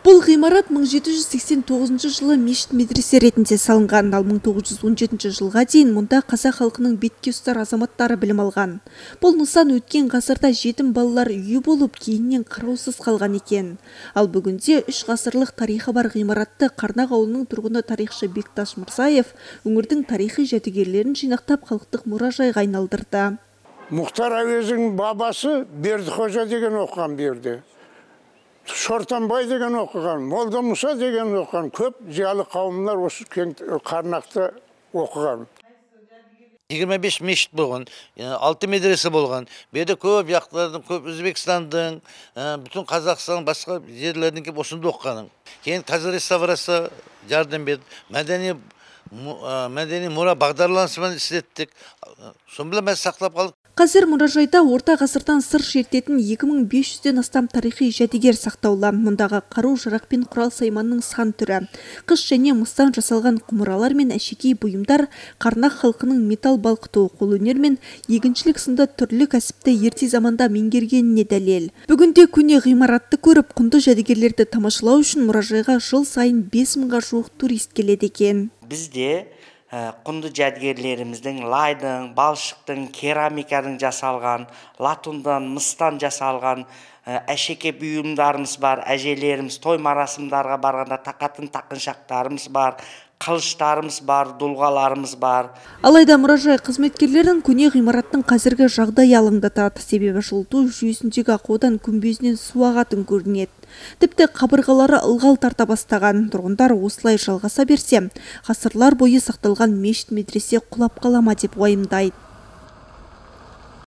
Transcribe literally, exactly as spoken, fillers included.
Бұл ғимарат мың жеті жүз сексен тоғызыншы жылы мешіт медресе ретінде салынған, ал мың тоғыз жүз он жетінші жылға дейін мұнда қазақ халқының бетке ұстар азаматтары білім алған. Бұл нысан өткен ғасырда жетім балалар үйі болып, кейіннен қараусыз қалған екен. Ал бүгінде үш ғасырлық тарихы бар ғимаратты Қарнақ ауылының тұрғыны тарихшы Бекташ Мырзаев өңірдің тарихи жәдігерлерін жинақтап халықтық мұражайға айналдырды. Мұхтар Әуезовтің бабасы Бердіқожа деген оқыған берді. Шортанбай деген оқыған, Молда Мұса деген оқыған, көп зиялы қауымдар осы Қарнақта оқыған. жиырма беш мешіт болған, алты медресе болған. Берде көп яқтардың, көп Өзбекстандың, бүтін Қазақстан басқа жерлердің кеп осында оқығаның. Кейін қазір реставрация жардым берді. Мәдени мәдени мұра бағдарламасымен істеттік. Сонымен біз сақтап қалдық. Қазір мұражайда орта ғасырдан сыр шертетін екі мың бес жүзден астам тарихи жәдігер сақтаулы. Мұндағы қару жарақ пен құрал сайманның сан түрі, қыш және мыстан жасалған құмыралар мен әшекей бұйымдар Қарнақ халқының металл балқыту, қолөнер мен егіншілік сынды түрлі кәсіпті ерте заманда меңгергеніне дәлел. Бүгінде көне ғимаратты көріп, құнды жәдігерлерді тамашалау үшін мұражайға жыл сайын бес мыңға жуық турист келеді екен. Бізде құнды жәдігерлеріміздің лайдың, балшықтың, керамиканың жасалған, латундан, мыстан жасалған әшеке бұйымдарымыз бар. Әжелеріміз той марасымдарға барғанда тақатын тақыншақтарымыз бар, қылыштарымыз бар, дұлғаларымыз бар. Алайда мұражай қызметкерлердің көне ғимараттың қазіргі жағдай алаңдатады, себебі жылыту жүйесіндегі ақаудан күмбезінен су ағатын көрінеді. Тіпті қабырғалары ылғал тарта бастаған. Тұрғындар осылай жалғаса берсе, ғасырлар бойы сақталған мешіт медресе құлап қалама деп уайымдайды.